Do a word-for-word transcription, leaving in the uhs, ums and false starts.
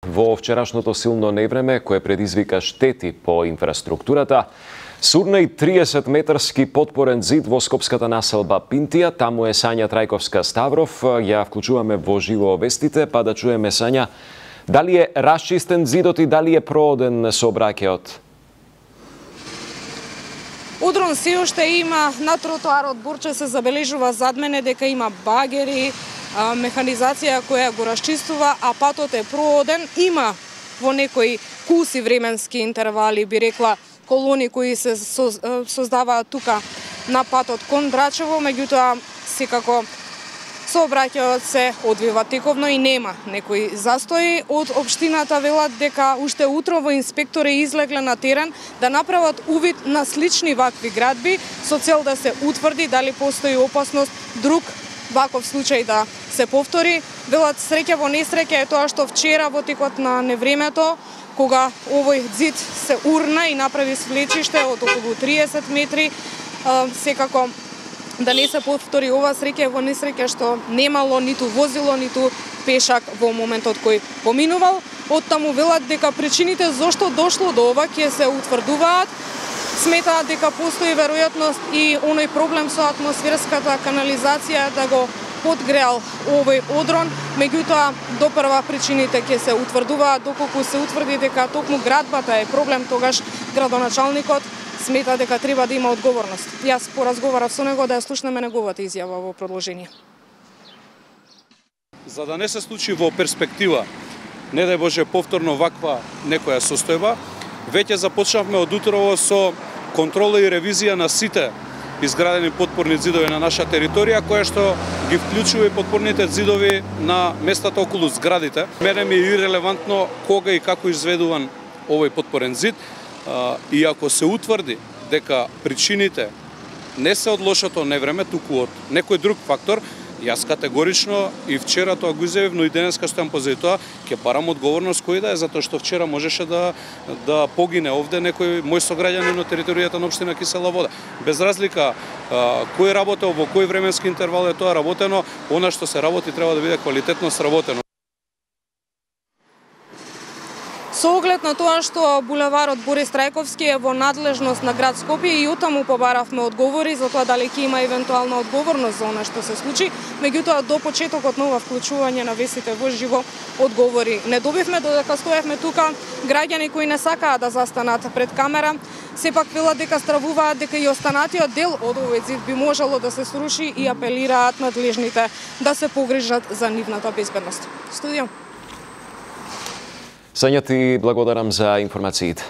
Во вчерашното силно невреме, кое предизвика штети по инфраструктурата, сурна и триесет метарски потпорен зид во скопската населба Пинтија. Таму е Сања Трајковска-Ставров. Ја вклучуваме во живо вестите, па да чуеме, Сања, дали е расчистен зидот и дали е прооден сообраќајот? Удрон се уште има на тротоарот Борче, се забележува зад мене дека има багери, механизација која го расчистува, а патот е прооден. Има во некои куси временски интервали, би рекла, колони кои се создаваат тука на патот кон Драчево, меѓутоа секако сообраќајот се одвива тековно и нема некои застои. Од општината велат дека уште утрово инспектори излегле на терен да направат увид на слични вакви градби со цел да се утврди дали постои опасност друг ваков случај да се повтори. Велат среќа во несреќа е тоа што вчера во текот на невремето, кога овој зид се урна и направи свлечиште од околу триесет метри, секако да не се повтори ова среќа во несреќа што немало ниту возило, ниту пешак во моментот кој поминувал. Оттаму велат дека причините зошто дошло до ова ќе се утврдуваат. Сметаат дека постои веројатност и оној проблем со атмосферската канализација да го подгреал овој одрон, меѓутоа допрва причините ќе се утврдуваат. Доколку се утврди дека токму градбата е проблем, тогаш градоначалникот смета дека треба да има одговорност. Јас поразговарав со него да ја слушнеме неговата изјава во продолжение. За да не се случи во перспектива, не дај Боже повторно ваква некоја состојба, веќе започнавме од утрово со контрола и ревизија на сите изградени потпорни зидови на наша територија, која што ги вклучува и потпорните зидови на местата околу зградите. Мене ми е ирелевантно кога и како изведуван овој потпорен зид, и ако се утврди дека причините не се од лошото невреме, туку од некој друг фактор, јас категорично и вчера тоа го изјавив, но и денеска стојам позади тоа, ќе барам одговорност кој да е, затоа што вчера можеше да да погине овде некој мој сограѓанин на територијата на општина Кисела Вода. Без разлика а, кој работел, во кој временски интервал е тоа работено, она што се работи треба да биде квалитетно сработено. Со оглед на тоа што булеварот Борис Трајковски е во надлежност на град Скопје, и оттаму побаравме одговори за тоа дали ќе има евентуална одговорност за она што се случи, меѓутоа до почетокот на ова вклучување на вестите во живо одговори не добивме, додека стоевме тука. Граѓани кои не сакаат да застанат пред камера, сепак велат дека стравуваат дека и останатиот дел од овој зид би можело да се сруши и апелираат надлежните да се погрижат за нивната безбедност. Студио. Сања, ти благодарам за информациите.